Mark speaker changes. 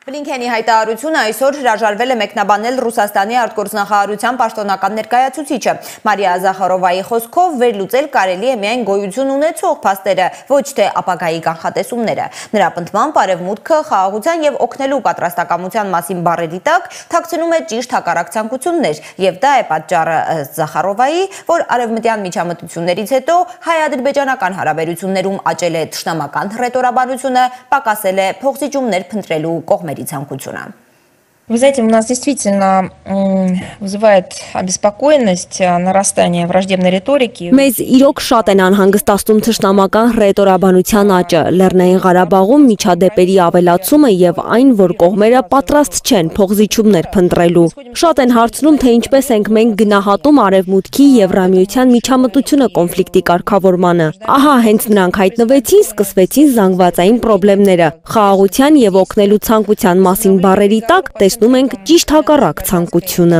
Speaker 1: Բլինքենի հայտարարությունը այսօր հրաժարվել է մեկնաբանել Ռուսաստանի արտգործնախարարության պաշտոնական ներկայացուցիչը։ Մարիա Զախարովայի խոսքով վերլուծել կարելի է միայն գոյություն ունեցող փաստերը, ոչ թե ապագայի կանխատեսումները։ Նրա պնդմամբ Արևմուտքը խաղաղության եւ օգնելու պատրաստակամության մասին բառերի տակ թաքցնում է ճիշտ հակառակ ցանկություններ, եւ դա է պատճառը Զախարովայի, որ արևմտյան միջամտություններից հետո հայ-ադրբեջանական հարաբերություններում աճել է թշնամական հռետորաբանությունը, պակասել է փոխզիջումներ փնտրելու կողմերի ցանկությունը։
Speaker 2: Вы знаете, у нас действительно вызывает обеспокоенность нарастание враждебной риторики.
Speaker 3: Մեզ իրոք շատ են անհանգստացնում թշնամական հռետորաբանության աճը, Լեռնային Ղարաբաղում միջադեպերի ավելացումը եւ այն, որ կողմերը պատրաստ չեն փոխզիջումներ փնտրելու։ Շատ են հարցնում, թե ինչպես ենք մենք գնահատում Արևմուտքի եւ Եվրամիության միջամտությունը կոնֆլիկտի կարգավորմանը։ Ահա հենց նրանք հայտնվեցին, սկսվեցին զանգվածային խնդիրները։ Խաղաղության եւ օգնելու ցանկության մասին բառերի տակ տեսնում ենք ճիշտ հակառակ ցանկությունը։